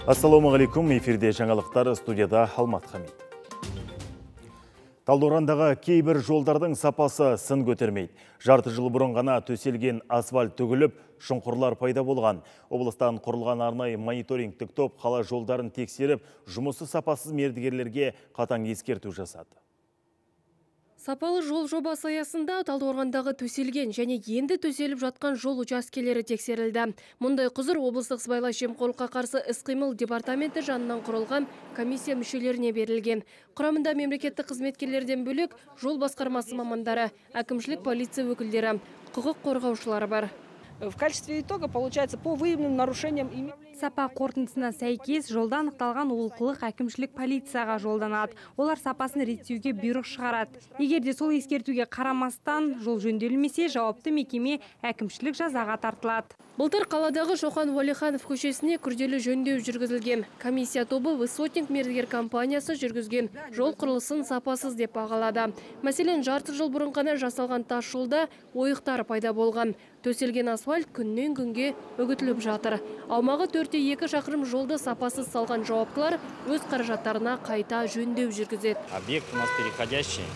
Ассалаумағалейкум, эфирде жаңалықтар, студияда Алмат Хамид. Талдықорғандағы кейбір жолдардың сапасы сын көтермейді. Жарты жыл бұрын ғана төселген асфальт төгіліп, шұңқырлар пайда болған. Облыстан құрылған арнайы мониторингтік топ қала жолдарын тексеріп, жұмысы сапасыз мердігерлерге қатаң ескерту жасады. Сапалы жол жобасы аясында Талдықорғандағы төселген және енді төселіп жатқан жол учаскелері тексерілді. Мұндай құзыр облыстық сыбайлас жемқорлыққа қарсы іс-қимыл департаменті жанынан құрылған комиссия мүшелеріне берілген. Құрамында мемлекеттік қызметкерлерден бөлек жол басқармасы мамандары, әкімшілік полиция өкілдері, құқық қорғаушылары бар. В качестве итога получается по выявленным нарушениям. Сапа қорытындысына сәйкес жолда анықталған олқылық әкімшілік полицияға жолданады. Олар сапасын реттеуге бұйрық шығарады. Егер де сол ескертуге қарамастан жол жөнделмесе, жауапты мекеме әкімшілік жазаға тартылады. Былтыр қаладағы Шоқан Уәлиханов көшесіне күрделі жөндеу жүргізілген. Комиссия тобы Высотник мердігер компаниясы жүргізген жол құрылысын сапасыз деп бағалады. Мәселен, жарты жыл бұрын ғана жасалған тас жолда ойықтар пайда болған. Төселген асфальт күннен күнге үгітіліп жатыр. Аумағы 4-2 шақырым жолды сапасыз салған жауаптылар өз қаражаттарына қайта жөндеу жүргізеді. Объект у нас переходящий.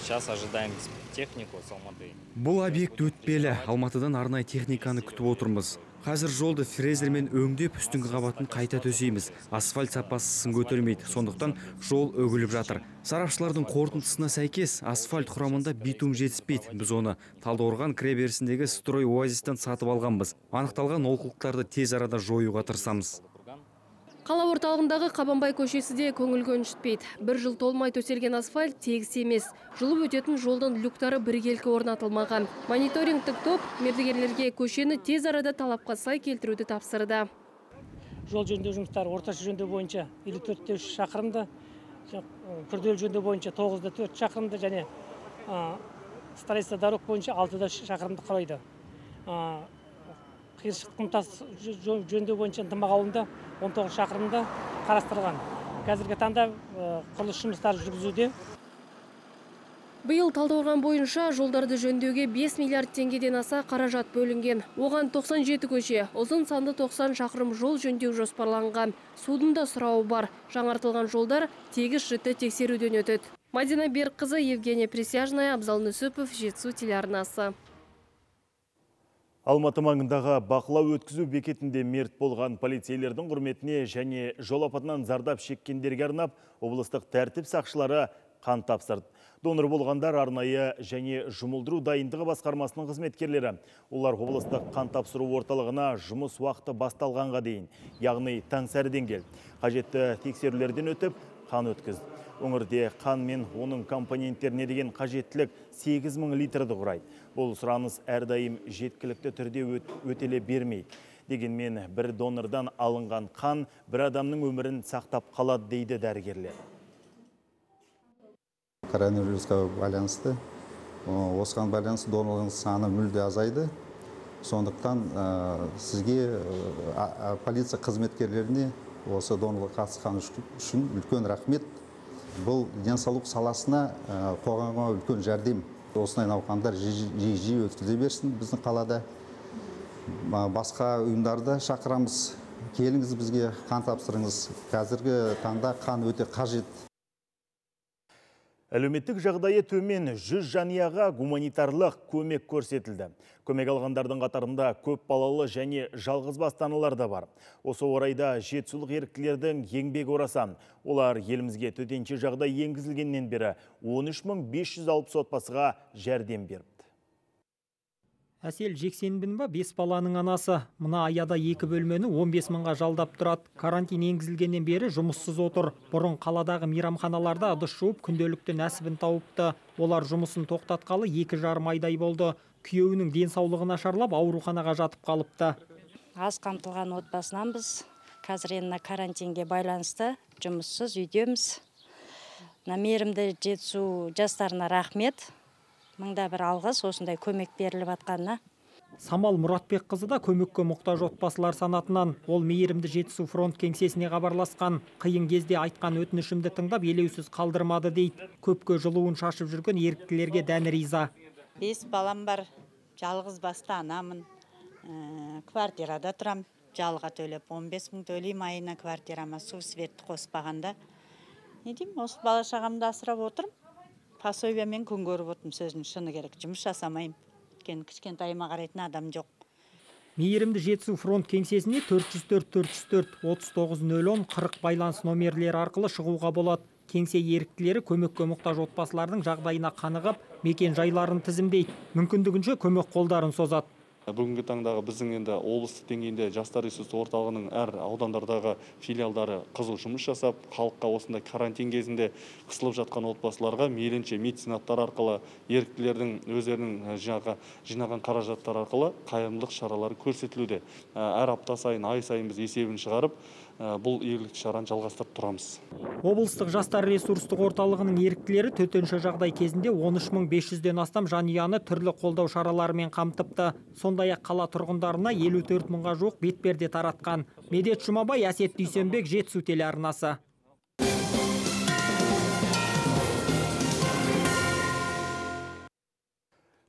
Сейчас ожидаем технику с Алматы. Бұл объект өтпелі. Алматыдан арнайы техниканы күтіп отырмыз. Қазір жолды фрезермен өңдеп, үстіңгі қабатын қайта төсейміз. Асфальт сапасы сын көтермейді, сондықтан жол өгіліп жатыр. Сарапшылардың қорытындысына сәйкес, асфальт құрамында битум жетіспейді. Біз оны Талдықорған кіреберісіндегі строй оазистен сатып алғанбыз. Анықталған олқылықтарды тез арада жоюға тырысамыз. Қала орталығындағы Қабанбай көшесі де көңіл көншітпейді. Бір жыл толмай төселген асфальт тегіс емес. Жылып өтетін жолдың люктары біркелкі орнатылмаған. Мониторингтік топ мердігерлерге көшені тез арада талапқа сай келтіруді тапсырды. Жол жөндеу жұмыстары орташа жөндеу бойынша 54-3 шақырымды, күрделі жөндеу бойынша 9-4 шақырымды және строительство дорог бойынша 6 шақырымды құрайды. Қиыршық құмтас жөндеу бойынша Ынтымақ ауылында 19 шақырымда қарастырылған. Қазіргі таңда құрылыс жұмыстары жүргізуде. Биыл Талдықорған бойынша жолдарды жөндеуге 5 миллиард теңгеден аса қаражат бөлінген. Оған 97 көше, ұзын санды 90 шақырым жол жөндеу жоспарланған. Судың да сұрауы бар. Жаңартылған жолдар тегіс жіті тексеруден өтеді. Мадина Беркқызы, Евгения Присяжная, Абзал Нүсіпов, Жетісу телеарнасы. Алматы маңындағы бақылау өткізу бекетінде мерт болған полицейлердің құрметіне және жол апатынан зардап шеккендерге арнап, облыстық тәртіп сақшылары қан тапсырды. Донор болғандар арнайы және жұмылдыру дайындығы басқармасының қызметкерлері. Олар облыстық қан тапсыру орталығына жұмыс уақыты басталғанға дейін, яғни таңсәріден келді. Қажетті тексерулерден өтіп, қан өткізді. Өңірде қан мен оның компоненттеріне деген қажеттілік 8000 литрді құрайды. Бұл сұраныс әрдайым жеткілікті түрде өтеле бермейді. Дегенмен бір донордан алынған қан бір адамның өмірін сақтап қалады дейді дәрігерлер. Коронавирусқа байланысты, осыған байланысты донорлардың саны мүлде азайды. Сондықтан сізге полиция қызметкерлеріне осы донорлыққа қатысқан үшін үлкен рахмет. Бұл денсаулық саласына қоғамға үлкен жәрдем. Осындай науқандар жиі өткізе берсін біздің қалада. Басқа ұйымдарды шақырамыз. Келіңіз бізге қан тапсырыңыз. Қазіргі таңда қан өте қажет. Әлеуметтік жағдайы төмен 100 жанұяға гуманитарлық көмек көрсетілді. Көмек алғандардың қатарында көп балалы және жалғыз басты да бар. Осы орайда жетісулық еріктілердің еңбек орасан. Олар елімізге төтенше жағдай енгізілгеннен бері 13560 отбасыға жәрдем берді. Әсел Жексенбинова 5 баланың анасы. Мына аяда 2 бөлмені 15 мыңға жалдап тұрады. Карантин енгізілгеннен бері жұмыссыз отыр. Бұрын қаладағы мейрамханаларда ыдыс жуып күнделікті нәсібін тауыпты. Олар жұмысын тоқтатқалы 2,5 айдай болды. Күйеуінің денсаулығы нашарлап ауруханаға жатып қалыпты. Аз қамтылған отбасынанбыз. Қазір енді карантинге байланысты жұмыссыз үйдеміз. Мейірімді Жетісу жастарына рахмет. Мыңда бір алғыс осындай көмек беріліп атқанына. Самал Мұратбек қызы да көмекке мұқтаж отбасылар санатынан. Ол мейірімді Жетісу фронт кеңсесіне хабарласқан. Қиын кезде айтқан өтінішімді тыңдап елеусіз қалдырмады дейді. Көпке жылуын шашып жүрген еріктілерге дән риза. 5 балам бар, жалғыз басты анамын, квартирада тұрам. жалға төлеп, 15 мың төлейм айына квартирама, су светті қоспағанда. Не деймін, осы бала шағамды асырап отырым. Пособиямен күн көріп отырмын, сөздің шыны керек. Жұмыс жасамайым. Кішкентайыма қарайтын адам жоқ. Мейірімді Жетісу фронт кеңсесіне 404-404-39-010-40 байланыс номерлері арқылы шығуға болады. Кеңсе еріктілері көмекке мұқтаж отбасылардың жағдайына қанығып, мекен жайларын тізімдейді. Мүмкіндігінше көмек қолдарын созады. Бүгінгі таңдағы біздің енді облыстық деңгейінде жастар ресурсы орталығының әр аудандардағы филиалдары қызу жұмыс жасап, халыққа осындай карантин кезінде қысылып жатқан отбасыларға мейлінше меценаттар арқылы, еріктілердің өздерінің жинаған қаражаттар арқылы қайырымдылық шаралары көрсетілуде. Әр апта сайын, ай сайын біз есебін шығарып, бұл игілікті шараны жалғастырып тұрамыз. Облыстық жастар ресурстық орталығының еріктілері төтенше жағдай кезінде 13.500-ден астам жанұяны түрлі қолдау шараларымен қамтыпты. Сондай-ақ қала тұрғындарына 54 мыңға жуық бетперде таратқан. Медет Жұмабай, Әсет Дүйсенбек, Жетісу телеарнасы.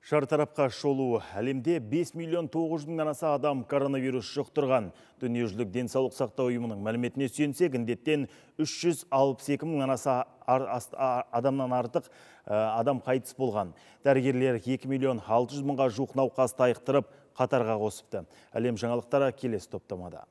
Шартарапқа шолу. Әлемде 5 миллион 900 мыңнан аса адам коронавирус жұқтырған. Дүниежүзілік денсаулық сақтау ұйымының мәліметіне сүйенсек, індеттен 362 мыңнан аса адамнан артық адам қайтыс болған. Дәрігерлер 2 миллион 600 мыңға жуық науқасты айықтырып, қатарға қосыпты. Әлем жаңалықтары келесі топтамада.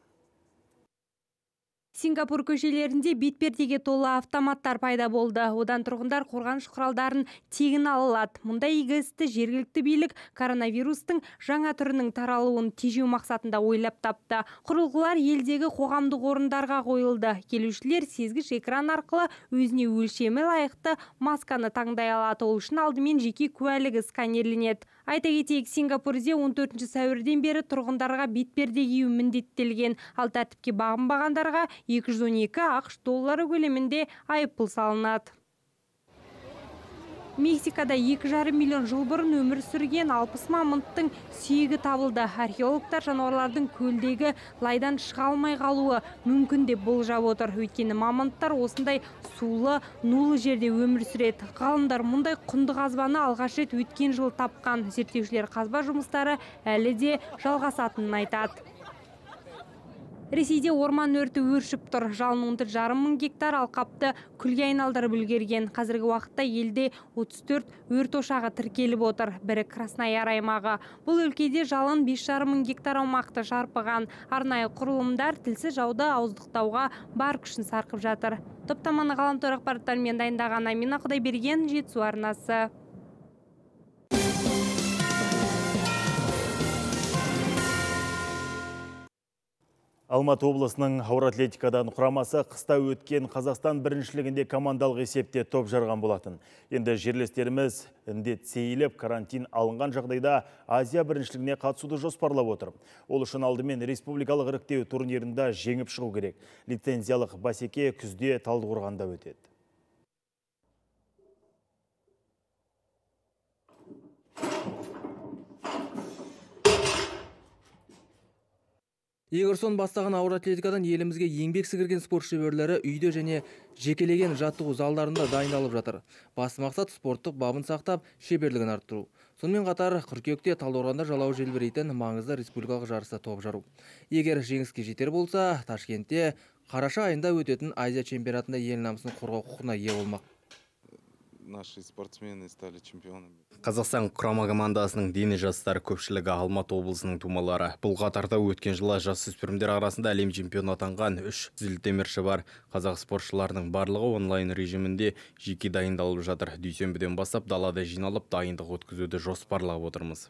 Сингапур көшелерінде бетпердеге толы автоматтар пайда болды. Одан тұрғындар қорғаныш құралдарын тегін ала алады. Мұндай игі істі жергілікті билік коронавирустың жаңа түрінің таралуын тежеу мақсатында ойлап тапты. Құрылғылар елдегі қоғамдық орындарға қойылды. Келушілер сезгіш экран арқылы өзіне өлшемі лайықты масканы таңдай алады. Ол үшін алдымен жеке куәлігі сканерленеді. Айта кетейік, Сингапурде 14 сәуірден бері тұрғындарға бетперде кию міндеттелген. Ал тәртіпке бағынбағандарға 212 ақш доллары көлемінде айыппұл салынады. Мексикада 2,5 миллион жыл бұрын өмір сүрген 60 мамонттың сүйегі табылды. Археологтар жануарлардың көлдегі лайдан шыға алмай қалуы мүмкін деп болжап отыр. Өйткені мамонттар осындай сулы, нулы жерде өмір сүреді. Ғалымдар мұндай құнды қазбаны алғаш рет өткен жыл тапқан. Зерттеушілер қазба жұмыстары әлі де жалғасатынын айтады. Ресейде орман өрті өршіп тұр. Жалын 10,5 мың гектар алқапты күлге айналдырып үлгерген. Қазіргі уақытта елде 34 өрт ошағы тіркеліп отыр. Бірі Краснояр аймағы. Бұл өлкеде жалын 5,5 мың гектар аумақты шарпыған. Арнайы құрылымдар тілсіз жауды ауыздықтауға бар күшін сарқып жатыр. Топтаманы ғаламтор ақпараттарымен дайындаған Амина Құдайберген, Жетісу арнасы. Алматы облысының ауыр атлетикадан құрамасы қыста өткен Қазақстан біріншілігінде командалық есепте топ жарған болатын. Енді жерлестеріміз індет сейіліп, карантин алынған жағдайда Азия біріншілігіне қатысуды жоспарлап отыр. Ол үшін алдымен республикалық іріктеу турнирында жеңіп шығу керек. Лицензиялық бәсеке күзде Талдықорғанда өтеді. Егорсон бастаған ауыр атлетикадан елімізге еңбек сіңірген спорт шеберлері үйде және жекелеген жаттығу залдарында дайындалып жатыр. Басты мақсат спорттық бабын сақтап, шеберлігін арттыру. Сонымен қатар қыркүйекте Талдықорғанда жалауы желбірейтін маңызды республикалық жарыста топ жару. Егер жеңіске жетер болса, Ташкентте қараша айында өтетін Азия чемпионатында ел намысын қорғау құқығына ие болмақ. Наши спортсмены стали чемпионами. Қазақстан құрама командасының дені жастар көпшілігі Алматы облысының тумалары. Бұл қатарда өткен жылы жасөспірімдер арасында әлем чемпионы атанған 3 зілтемірші бар. Қазақ спортшыларының барлығы онлайн режимінде жеке дайындалып жатыр. Дүйсенбіден бастап далада жиналып дайындық өткізуді жоспарлап отырмыз.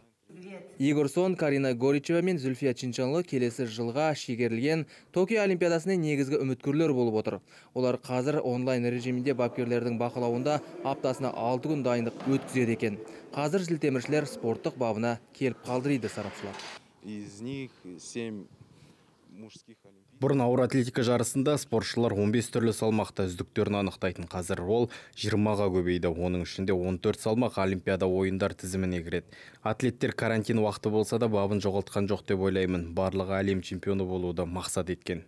Егорсон, Карина Горичева мен Зүлфия Чинчанлы келесі жылға шегерілген Токио олимпиадасына негізгі үміткерлер болып отыр. Олар қазір онлайн режимінде бапкерлердің бақылауында аптасына 6 күн дайындық өткізеді екен. Қазір зілтеміршілер спорттық бабына келіп қалды дейді сарапшылар. Из них 7 мужских олимпиад. Бұрын ауыр атлетика жарысында спортшылар 15 түрлі салмақта үздіктерін анықтайтын. Қазір ол 20-ға көбейді. Оның ішінде 14 салмақ олимпиада ойындар тізіміне кіреді. Атлеттер карантин уақыты болса да бабын жоғалтқан жоқ деп ойлаймын. Барлығы әлем чемпионы болуды мақсат еткен.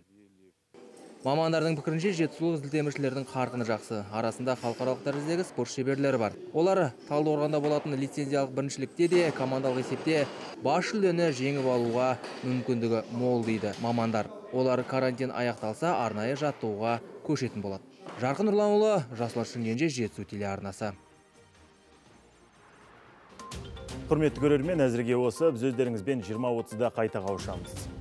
Мамандардың пікірінше жетісулық зілтеміршілердің қарқыны жақсы. Арасында халықаралық дәрежедегі спорт шеберлері бар. Олар Талдықорғанда болатын лицензиялық біріншілікте де командалық есепте бас жүлдені жеңіп алуға мүмкіндігі мол дейді мамандар. Олар карантин аяқталса арнайы жаттығуға көшетін болады. Жарқын Нұрланұлы, Жасұлан Шымкенже, Жетісу телеарнасы. Құрметті көрермен, әзірге осы. Біз өздеріңізбен 20:30-да қайта қауышамыз.